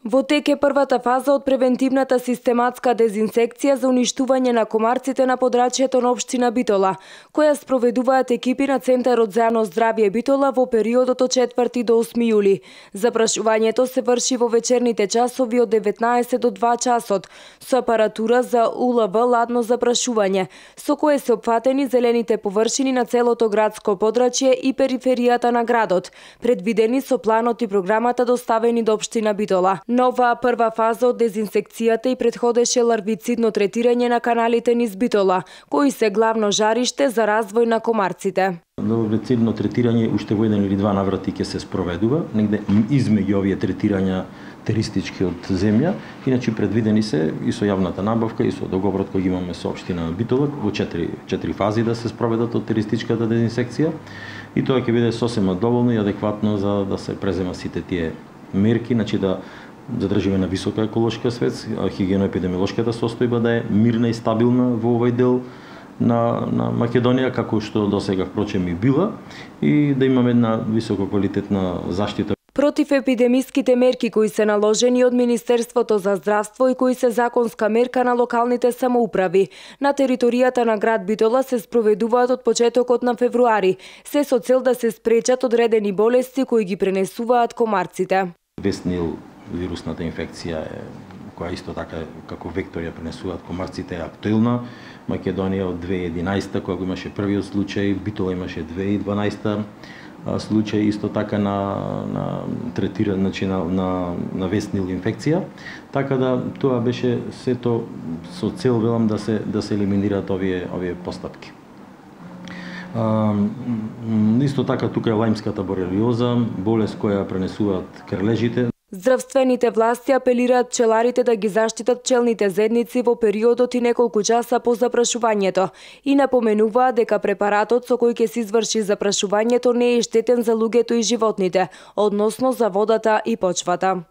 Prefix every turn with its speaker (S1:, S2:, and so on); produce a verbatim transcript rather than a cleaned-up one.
S1: Во тек е првата фаза од превентивната систематска дезинсекција за уништување на комарците на подрачјето на општина Битола, која спроведуваат екипи на Центарот за јавно здравје Битола во периодот од четврти до осми јули. Запрашувањето се врши во вечерните часови од деветнаесет до два часот со апаратура за У Л В ладно запрашување, со кое се опфатени зелените површини на целото градско подрачје и периферијата на градот, предвидени со планот и програмата доставени до општина Битола. Нова прва фаза од дезинсекцијата и предходеше ларвицидно третирање на каналите низ Битола, кои се главно жариште за развој на комарците.
S2: Ларвицидно третирање уште во еден или два наврати ќе се спроведува, негде измеѓу овие третирања теристички од земја, иначе предвидени се и со јавната набавка и со договорот кој имаме со општина Битола во четири, четири фази да се спроведат од теристичката дезинсекција, и тоа ќе биде сосема доволно и адекватно за да се презема сите тие мерки, значи да задржиме на висока еколошка свест, хигиено-епидемиолошката состојба да е мирна и стабилна во овој дел на, на Македонија, како што досега впрочем и била, и да имаме една висококвалитетна заштита.
S1: Против епидемиските мерки кои се наложени од Министерството за здравство и кои се законска мерка на локалните самоуправи, на територијата на град Битола се спроведуваат од почетокот на февруари, се со цел да се спречат одредени болести кои ги пренесуваат комарците.
S2: Вестнил вирусната инфекција е, која исто така како вектор ја пренесуваат комарците, е актуелна. Македонија од две илјади и единаесета, кога имаше првиот случај, Битола имаше две илјади и дванаесета случај исто така на на третира, значи на, на на вестнил инфекција. Така да тоа беше сето со цел, велам, да се да се елиминираат овие овие постапки. А, исто така тука е лајмската борелиоза, болест која пренесуваат крлежите.
S1: Здравствените власти апелираат пчеларите да ги заштитат пчелните зедници во периодот и неколку часа по запрашувањето и напоменуваат дека препаратот со кој ќе се изврши запрашувањето не е штетен за луѓето и животните, односно за водата и почвата.